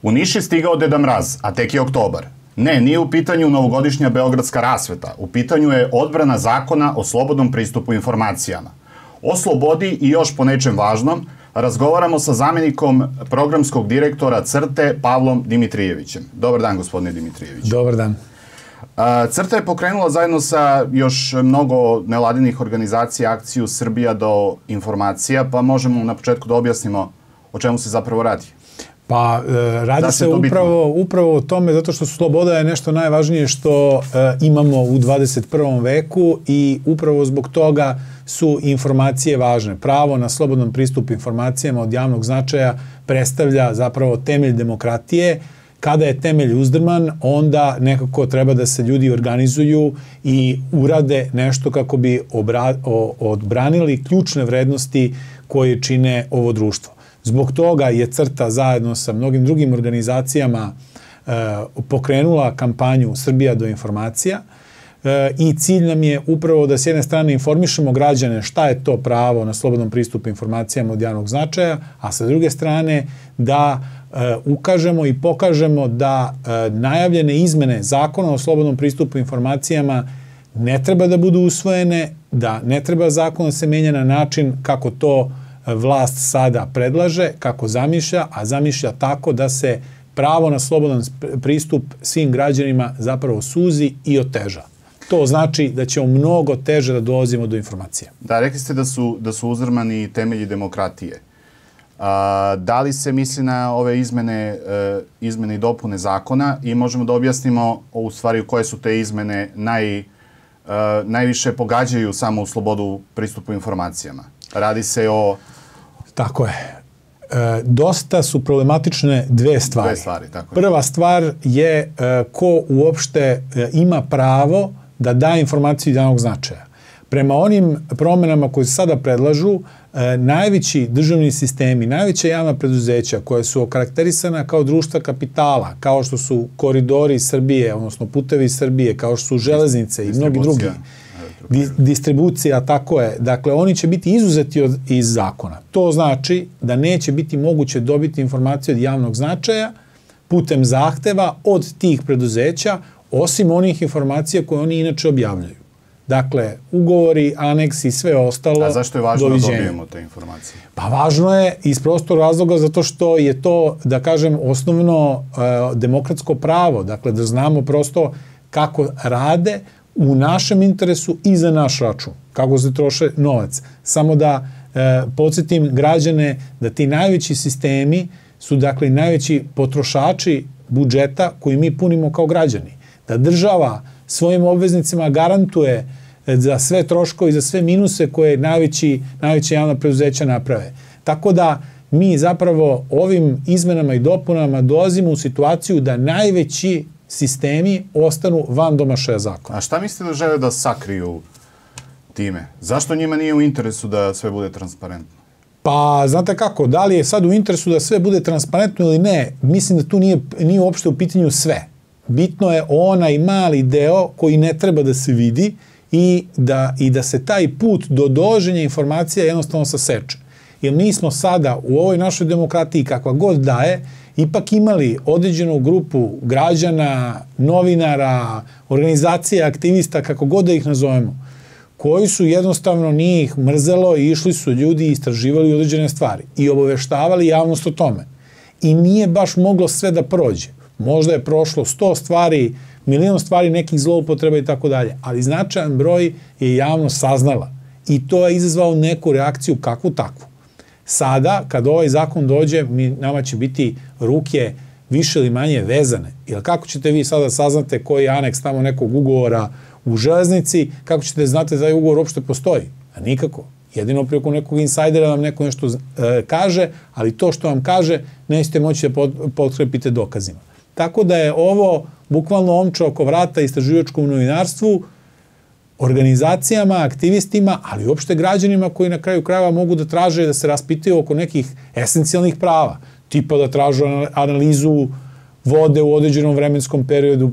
U Niš je stigao Deda Mraz, a tek je oktobar. Ne, nije u pitanju novogodišnja beogradska rasveta. U pitanju je odbrana zakona o slobodnom pristupu informacijama. O slobodi i još po nečem važnom razgovaramo sa zamjenikom programskog direktora CRTE Pavlom Dimitrijevićem. Dobar dan, gospodine Dimitrijević. Dobar dan. CRTA je pokrenula zajedno sa još mnogo nevladinih organizacija akciju Srbija do informacija, pa možemo na početku da objasnimo o čemu se zapravo radi. Pa radi se upravo o tome, zato što sloboda je nešto najvažnije što imamo u 21. veku i upravo zbog toga su informacije važne. Pravo na slobodan pristup informacijama od javnog značaja predstavlja zapravo temelj demokratije. Kada je temelj uzdrman, onda nekako treba da se ljudi organizuju i urade nešto kako bi odbranili ključne vrednosti koje čine ovo društvo. Zbog toga je CRTA zajedno sa mnogim drugim organizacijama pokrenula kampanju Srbija do informacija i cilj nam je upravo da s jedne strane informišemo građane šta je to pravo na slobodan pristup informacijama od javnog značaja, a sa druge strane da ukažemo i pokažemo da najavljene izmene zakona o slobodnom pristupu informacijama ne treba da budu usvojene, da ne treba zakon da se menja na način kako to vlast sada predlaže, kako zamišlja, a zamišlja tako da se pravo na slobodan pristup svim građanima zapravo suzi i oteža. To znači da ćemo mnogo teže da dolazimo do informacija. Da, rekli ste da su uzdrmani temelji demokratije. Da li se misli na ove izmene i dopune zakona i možemo da objasnimo u stvari koje su te izmene najviše pogađaju samo u slobodu pristupu informacijama? Radi se o... Tako je. Dosta su problematične dve stvari. Tako je. Prva stvar je ko uopšte ima pravo da da informaciju javnog značaja. Prema onim promenama koje se sada predlažu, najveći državni sistemi, najveća javna preduzeća koje su okarakterisana kao društva kapitala, kao što su koridori Srbije, odnosno putevi Srbije, kao što su železnice i mnogi drugi, distribucija, tako je. Dakle, oni će biti izuzeti iz zakona. To znači da neće biti moguće dobiti informacije od javnog značaja putem zahteva od tih preduzeća, osim onih informacija koje oni inače objavljaju. Dakle, ugovori, aneksi i sve ostalo. A zašto je važno da dobijemo te informacije? Pa važno je iz prostog razloga zato što je to, da kažem, osnovno demokratsko pravo. Dakle, da znamo prosto kako rade u našem interesu i za naš račun. Kako se troše novac. Samo da podsjetim građane da ti najveći sistemi su, dakle, najveći potrošači budžeta koji mi punimo kao građani. Da država svojim obveznicima garantuje za sve troškove i za sve minuse koje najveće javna preduzeća naprave. Tako da mi zapravo ovim izmenama i dopunama dolazimo u situaciju da najveći sistemi ostanu van domašaja zakona. A šta mislite da žele da sakriju time? Zašto njima nije u interesu da sve bude transparentno? Pa, znate kako, da li je sad u interesu da sve bude transparentno ili ne, mislim da tu nije uopšte u pitanju sve. Bitno je onaj mali deo koji ne treba da se vidi i da se taj put do dolaženja informacija jednostavno saseče. Jer mi smo sada u ovoj našoj demokratiji, kakva god da je, ipak imali određenu grupu građana, novinara, organizacija, aktivista, kako god da ih nazovemo, koji su jednostavno nije ih mrzelo i išli su ljudi i istraživali određene stvari i obaveštavali javnost o tome. I nije baš moglo sve da prođe. Možda je prošlo 100 stvari, milion stvari, nekih zloupotreba i tako dalje, ali značajan broj je javnost saznala i to je izazvalo neku reakciju kakvu takvu. Sada, kad ovaj zakon dođe, nama će biti ruke više ili manje vezane. Jer kako ćete vi sada saznate koji je aneks tamo nekog ugovora u železnici, kako ćete znate da taj ugovor uopšte postoji? A nikako. Jedino preko nekog insajdera vam neko nešto kaže, ali to što vam kaže nećete moći da potkrepite dokazima. Tako da je ovo bukvalno omča oko vrata istraživačkom novinarstvu, organizacijama, aktivistima, ali uopšte građanima koji na kraju krajeva mogu da traže da se raspitaju oko nekih esencijalnih prava. Tipa da tražu analizu vode u određenom vremenskom periodu,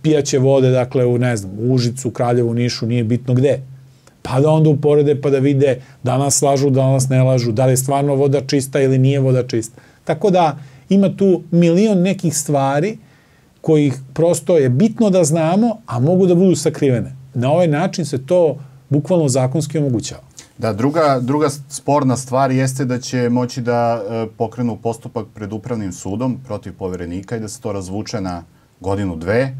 pijaće vode, dakle, u Užicu, Kraljevu, Nišu, nije bitno gde. Pa da onda uporede pa da vide da nas lažu, da nas ne lažu, da li je stvarno voda čista ili nije voda čista. Tako da ima tu milion nekih stvari kojih prosto je bitno da znamo, a mogu da budu sakrivene. Na ovaj način se to bukvalno zakonski omogućava. Da, druga sporna stvar jeste da će moći da pokrenu postupak pred upravnim sudom protiv poverenika i da se to razvuče na godinu, dve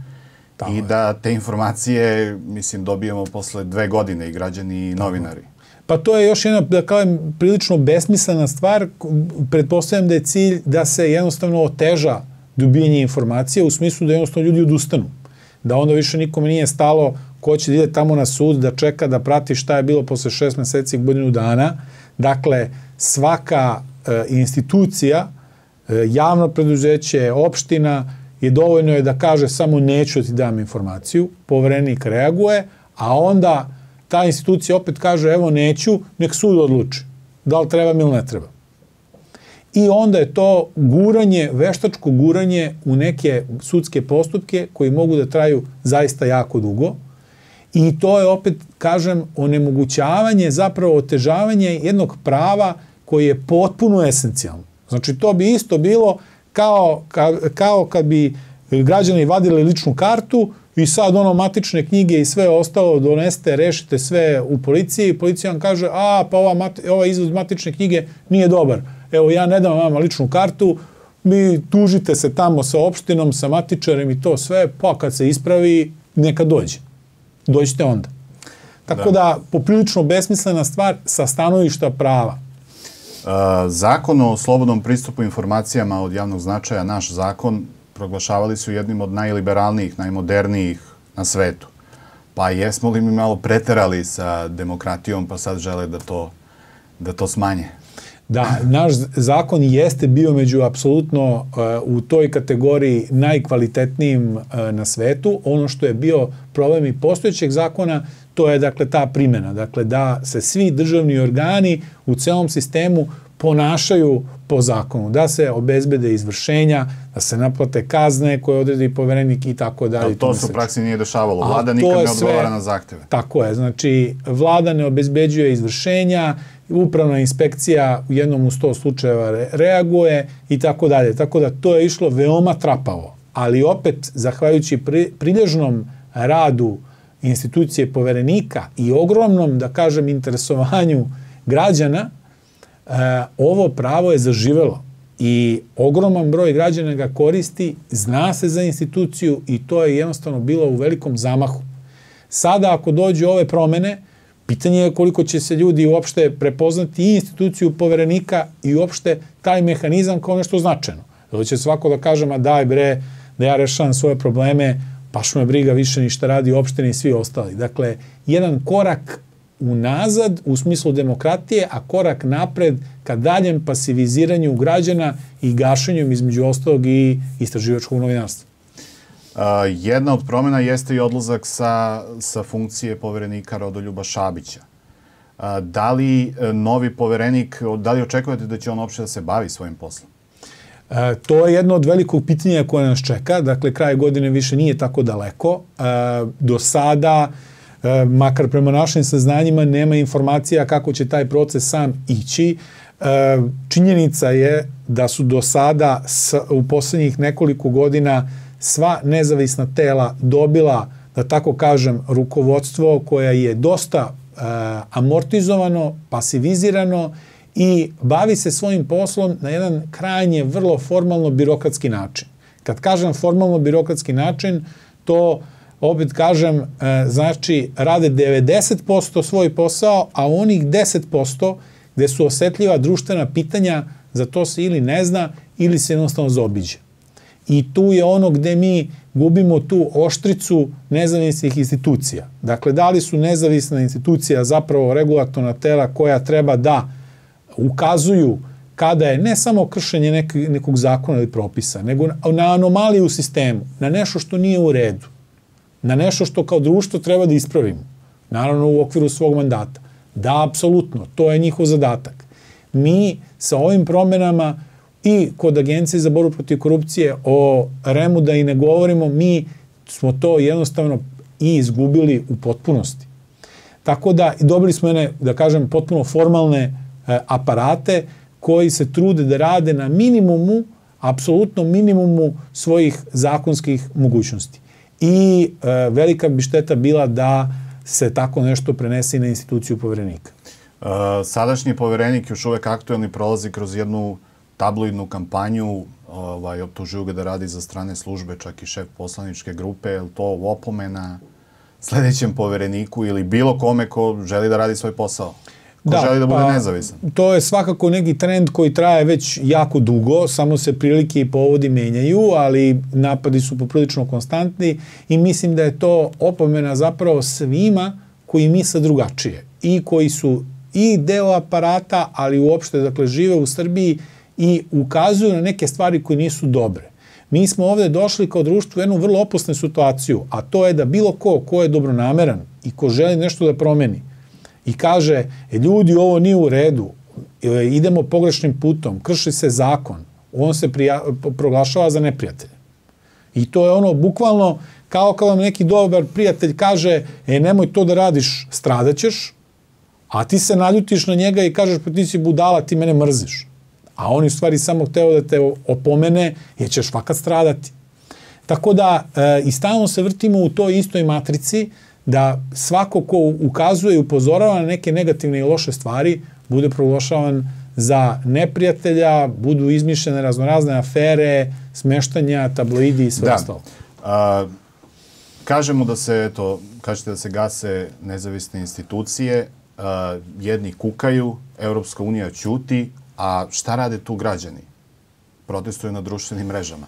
i da te informacije, mislim, dobijemo posle 2 godine i građani i novinari. Pa to je još jedna, da kažem, prilično besmislena stvar. Pretpostavljam da je cilj da se jednostavno oteža dobijanje informacije u smislu da jednostavno ljudi odustanu. Da onda više nikome nije stalo ko će da ide tamo na sud, da čeka, da prati šta je bilo posle 6 meseci i godinu dana. Dakle, svaka institucija, javno preduzeće, opština, je dovoljno je da kaže samo neću da ti dam informaciju, poverenik reaguje, a onda ta institucija opet kaže evo neću, nek sud odluči da li treba ili ne treba. I onda je to guranje, veštačko guranje u neke sudske postupke koji mogu da traju zaista jako dugo. I to je opet, kažem, onemogućavanje, zapravo otežavanje jednog prava koji je potpuno esencijalno. Znači, to bi isto bilo kao kad bi građani vadili ličnu kartu i sad matične knjige i sve ostalo donesete, rešite sve u policiji i policija vam kaže, pa ovaj izvod matične knjige nije dobar. Evo, ja ne dam vama ličnu kartu, mi tužite se tamo sa opštinom, sa matičarem i to sve, pa kad se ispravi, neka dođe. Dođite onda. Tako da, poprilično besmislena stvar sa stanovišta prava. Zakon o slobodnom pristupu informacijama od javnog značaja, naš zakon, proglašavali su jednim od najliberalnijih, najmodernijih na svetu. Pa jesmo li mi malo preterali sa demokratijom, pa sad žele da to smanje? Da, naš zakon jeste bio među apsolutno u toj kategoriji najkvalitetnijim na svetu. Ono što je bio problem i postojećeg zakona, to je dakle ta primjena. Dakle, da se svi državni organi u celom sistemu ponašaju po zakonu, da se obezbede izvršenja, da se naplate kazne koje odredi poverenik i tako dalje. Ali to se u praksi nije dešavalo. Vlada nikad ne odgovara na zahteve. Tako je. Znači, vlada ne obezbeđuje izvršenja, upravna inspekcija u jednom u 100 slučajeva reaguje i tako dalje. Tako da to je išlo veoma trapavo. Ali opet, zahvaljujući prilježnom radu institucije poverenika i ogromnom, da kažem, interesovanju građana, ovo pravo je zaživelo i ogroman broj građana ga koristi, zna se za instituciju i to je jednostavno bilo u velikom zamahu. Sada ako dođu ove promene, pitanje je koliko će se ljudi uopšte prepoznati i instituciju poverenika i uopšte taj mehanizam kao nešto značajno. Da će svako da kaže, ma daj bre, da ja rešavam svoje probleme, baš me briga više ni šta radi opštine i svi ostali. Dakle, jedan korak unazad u smislu demokratije, a korak napred ka daljem pasiviziranju građana i gašenju između ostalog i istraživačkog novinarstva. Jedna od promjena jeste i odlazak sa funkcije poverenika Rodoljuba Šabića. Da li novi poverenik, da li očekujete da će on uopšte da se bavi svojim poslom? To je jedno od velikog pitanja koje nas čeka. Dakle, kraj godine više nije tako daleko. Do sada, makar prema našim saznanjima, nema informacija kako će taj proces sam ići. Činjenica je da su do sada u poslednjih nekoliko godina sva nezavisna tela dobila, da tako kažem, rukovodstvo koje je dosta amortizovano, pasivizirano i bavi se svojim poslom na jedan krajnje vrlo formalno birokratski način. Kad kažem formalno birokratski način, to opet kažem, znači rade 90% svoj posao, a onih 10% gde su osetljiva društvena pitanja, za to se ili ne zna ili se jednostavno zaobiđe. I tu je ono gde mi gubimo tu oštricu nezavisnih institucija. Dakle, da li su nezavisna institucija zapravo regulatorna tela koja treba da ukazuju kada je ne samo kršenje nekog zakona ili propisa, nego na anomaliju u sistemu, na nešto što nije u redu, na nešto što kao društvo treba da ispravimo, naravno u okviru svog mandata. Da, apsolutno, to je njihov zadatak. Mi sa ovim promenama i kod Agencije za borbu protiv korupcije o REM-u da i ne govorimo, mi smo to jednostavno i izgubili u potpunosti. Tako da dobili smo jedne, da kažem, potpuno formalne aparate koji se trude da rade na minimumu, apsolutno minimumu svojih zakonskih mogućnosti. I velika bi šteta bila da se tako nešto prenese na instituciju poverenika. Sadašnji poverenik još uvek aktuelni prolazi kroz jednu tabloidnu kampanju, optužuju ga da radi za strane službe, čak i šef poslaničke grupe. Je li to opomena sledećem povereniku ili bilo kome ko želi da radi svoj posao? Ko želi da bude nezavisan? To je svakako neki trend koji traje već jako dugo, samo se prilike i povodi menjaju, ali napadi su poprilično konstantni i mislim da je to opomena zapravo svima koji misle drugačije i koji su i deo aparata, ali uopšte, dakle, žive u Srbiji i ukazuju na neke stvari koje nisu dobre. Mi smo ovde došli kao društvo u jednu vrlo opasnu situaciju, a to je da bilo ko je dobronameran i ko želi nešto da promeni i kaže, ljudi, ovo nije u redu, idemo pogrešnim putom, krši se zakon, on se proglašava za neprijatelja. I to je ono, bukvalno, kao kad vam neki dobar prijatelj kaže, nemoj to da radiš, stradaćeš, a ti se naljutiš na njega i kažeš, pa ti si budala, ti mene mrziš. A on je u stvari samo hteo da te opomene, jer ćeš fakat stradati. Tako da, i stalno se vrtimo u toj istoj matrici, da svako ko ukazuje i upozorava na neke negativne i loše stvari, bude proglašavan za neprijatelja, budu izmišljene raznorazne afere, smeštanja, tabloidi i sve ostalo. Kažemo da se, kažete da se gase nezavisne institucije, jedni kukaju, Europska unija ćuti, a šta rade tu građani? Protestuju na društvenim mrežama.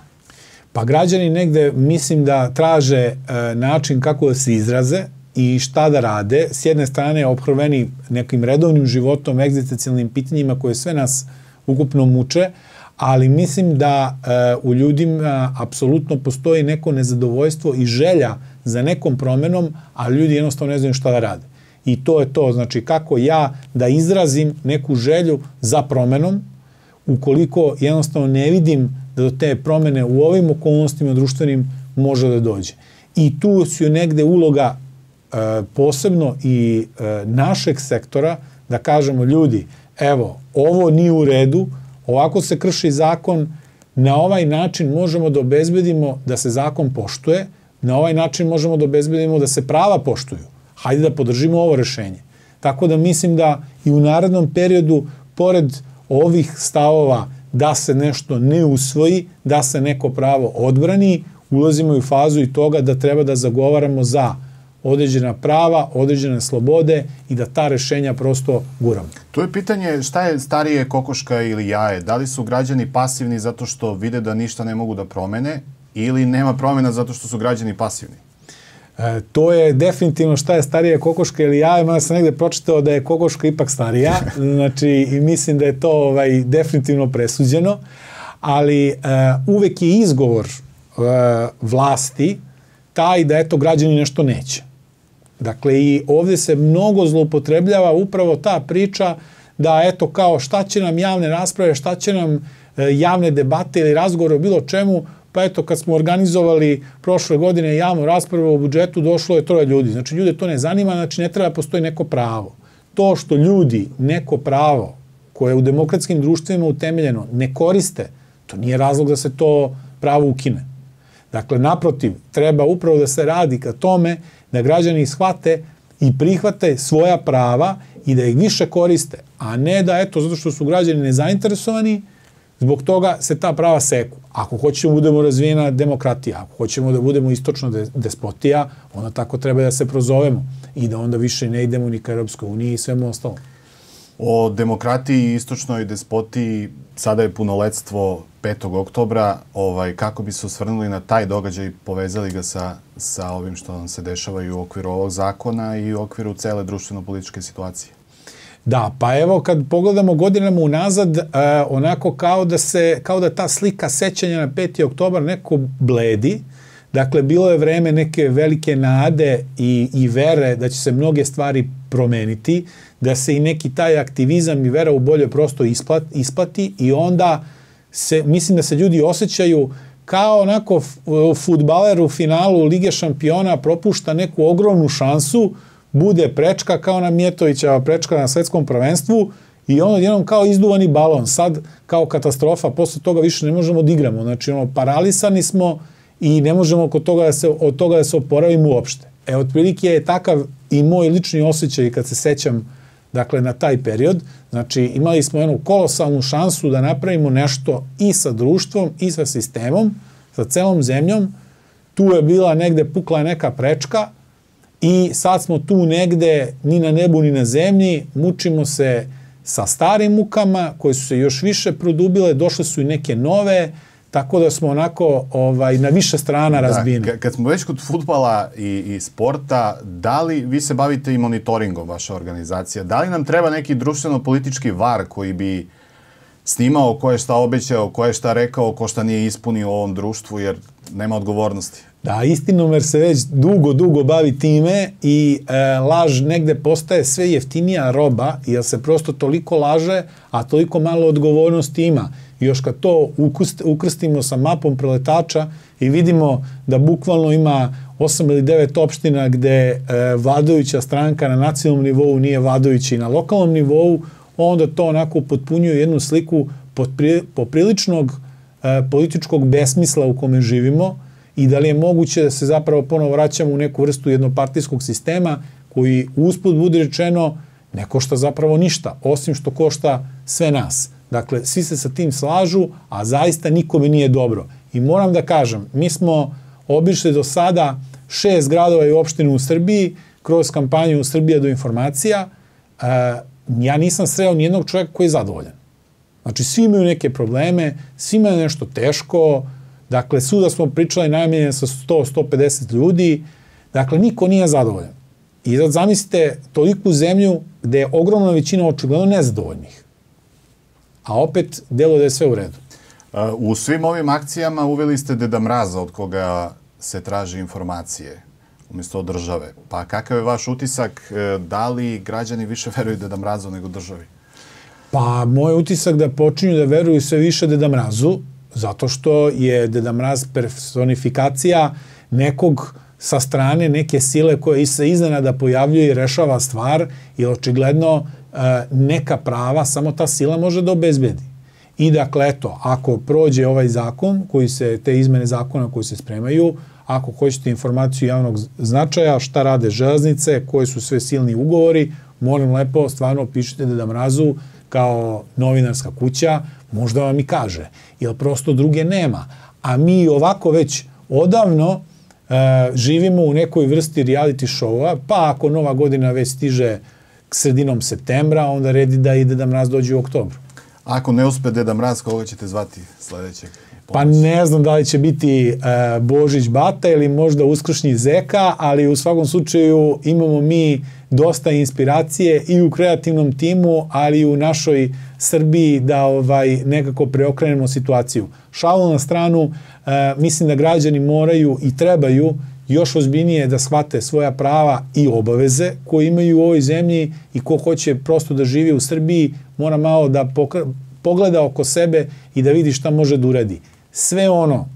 Pa građani negde, mislim da traže način kako da se izraze i šta da rade. S jedne strane, ophrveni nekim redovnim životom, egzistencijalnim pitanjima koje sve nas ukupno muče, ali mislim da u ljudima apsolutno postoji neko nezadovoljstvo i želja za nekom promenom, a ljudi jednostavno ne znaju šta da rade. I to je to, znači kako ja da izrazim neku želju za promenom, ukoliko jednostavno ne vidim da do te promene u ovim okolnostima društvenim može da dođe. I tu su negde uloga posebno i našeg sektora da kažemo, ljudi, evo, ovo nije u redu, ovako se krši zakon, na ovaj način možemo da obezbedimo da se zakon poštuje, na ovaj način možemo da obezbedimo da se prava poštuju. Hajde da podržimo ovo rešenje. Tako da mislim da i u narednom periodu, pored ovih stavova da se nešto ne usvoji, da se neko pravo odbrani, ulazimo u fazu i toga da treba da zagovaramo za određena prava, određene slobode i da ta rešenja prosto guramo. Tu je pitanje šta je starije, kokoška ili jaje? Da li su građani pasivni zato što vide da ništa ne mogu da promene ili nema promena zato što su građani pasivni? To je definitivno šta je starija kokoška ili jaje, mada sam negde pročitao da je kokoška ipak starija, znači i mislim da je to definitivno presuđeno, ali uvek je izgovor vlasti taj da eto građani nešto neće. Dakle, i ovde se mnogo zloupotrebljava upravo ta priča da eto kao šta će nam javne rasprave, šta će nam javne debate ili razgovore o bilo čemu, pa eto kad smo organizovali prošle godine javnu raspravu o budžetu, došlo je 3 ljudi. Znači ljude to ne zanima, znači ne treba postoji neko pravo. To što ljudi neko pravo koje je u demokratskim društvima utemeljeno ne koriste, to nije razlog da se to pravo ukine. Dakle, naprotiv, treba upravo da se radi ka tome da građani shvate i prihvate svoja prava i da ih više koriste, a ne da, eto, zato što su građani nezainteresovani, zbog toga se ta prava seku. Ako hoćemo da budemo razvijena demokratija, ako hoćemo da budemo istočna despotija, onda tako treba da se prozovemo i da onda više ne idemo ni ka Europskoj uniji i svemu ostalom. O demokratiji i istočnoj despotiji sada je punoletstvo 5. oktobra. Kako bi se osvrnuli na taj događaj i povezali ga sa ovim što nam se dešava i u okviru ovog zakona i u okviru cele društveno-političke situacije? Da, pa evo kad pogledamo godinama unazad, onako kao da ta slika sećanja na 5. oktobar neko bledi. Dakle, bilo je vreme neke velike nade i vere da će se mnoge stvari promeniti, da se i neki taj aktivizam i vera u bolje prosto isplati i onda mislim da se ljudi osjećaju kao onako fudbaler u finalu Lige šampiona propušta neku ogromnu šansu, bude prečka kao na Mijetovićeva prečka na svetskom prvenstvu i ono jednom kao izduvani balon, sad kao katastrofa, posle toga više ne možemo da igramo, znači paralisani smo i ne možemo od toga da se oporavimo uopšte. Otprilike je takav i moj lični osjećaj kad se sećam, dakle, na taj period. Znači, imali smo jednu kolosalnu šansu da napravimo nešto i sa društvom i sa sistemom, sa celom zemljom. Tu je bila negde, pukla neka prečka i sad smo tu negde ni na nebu ni na zemlji, mučimo se sa starim mukama koje su se još više produbile, došle su i neke nove, tako da smo onako na više strana razbijeni. Kad smo već kod fudbala i sporta, da li vi se bavite i monitoringom, vaša organizacija, da li nam treba neki društveno-politički var koji bi snimao ko je šta obećao, ko je šta rekao, ko šta nije ispunio u ovom društvu, jer nema odgovornosti? Da, Istinomer se već dugo bavi time i laž negde postaje sve jeftinija roba, jer se prosto toliko laže, a toliko malo odgovornosti ima. I još kad to ukrstimo sa mapom preletača i vidimo da bukvalno ima 8 ili 9 opština gde vladajuća stranka na nacionalnom nivou nije vladajuća i na lokalnom nivou, onda to onako potpunjuje jednu sliku popriličnog političkog besmisla u kome živimo i da li je moguće da se zapravo ponovo vraćamo u neku vrstu jednopartijskog sistema koji usput bude rečeno ne košta zapravo ništa, osim što košta sve nas. Dakle, svi se sa tim slažu, a zaista nikome nije dobro. I moram da kažem, mi smo obišli do sada 6 gradova i opština u Srbiji kroz kampanju Srbija do informacija. Ja nisam sreo nijednog čovjeka koji je zadovoljan. Znači, svi imaju neke probleme, svi imaju nešto teško, dakle, svuda smo pričali najmanje sa 100-150 ljudi, dakle, niko nije zadovoljan. I sad zamislite toliku zemlju gde je ogromna većina očigledno nezadovoljnih. A opet delo da je sve u redu. U svim ovim akcijama uveli ste Deda Mraza od koga se traži informacije umjesto od države. Pa kakav je vaš utisak, da li građani više veruju Deda Mrazu nego državi? Pa moj utisak da počinju da veruju sve više Deda Mrazu, zato što je Deda Mraz personifikacija nekog sa strane, neke sile koje se iznenada pojavljuje i rešava stvar, jer očigledno neka prava samo ta sila može da obezbedi. I dakle, eto, ako prođe ovaj zakon, te izmene zakona koji se spremaju, ako hoćete informaciju javnog značaja, šta rade železnice, koji su sve silni ugovori, molim lepo, stvarno pišite Deda Mrazu kao novinarska kuća, možda vam i kaže, jer prosto druge nema. A mi ovako već odavno živimo u nekoj vrsti reality showa, pa ako Nova godina već stiže sredinom septembra, onda redi da i Deda Mraz dođe u oktobru. Ako ne uspe Deda Mraz, koga ćete zvati sledećeg? Pa ne znam da li će biti Božić Bata ili možda Uskršnji Zeka, ali u svakom slučaju imamo mi dosta inspiracije i u kreativnom timu, ali i u našoj Srbiji da nekako preokrenemo situaciju. Šalu na stranu, mislim da građani moraju i trebaju još ozbiljnije da shvate svoja prava i obaveze koje imaju u ovoj zemlji i ko hoće prosto da živi u Srbiji, mora malo da pogleda oko sebe i da vidi šta može da uradi. Sve ono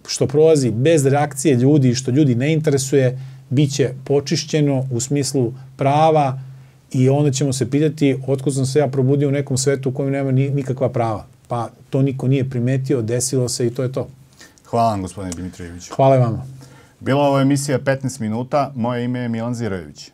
što prolazi bez reakcije ljudi i što ljudi ne interesuje, bit će počišćeno u smislu prava i onda ćemo se pitati otkud sam se ja probudio u nekom svetu u kojem nema nikakva prava. Pa to niko nije primetio, desilo se i to je to. Hvala vam, gospodine Dimitrijević. Hvala vama. Bila ovo emisija 15 minuta. Moje ime je Milan Zirojević.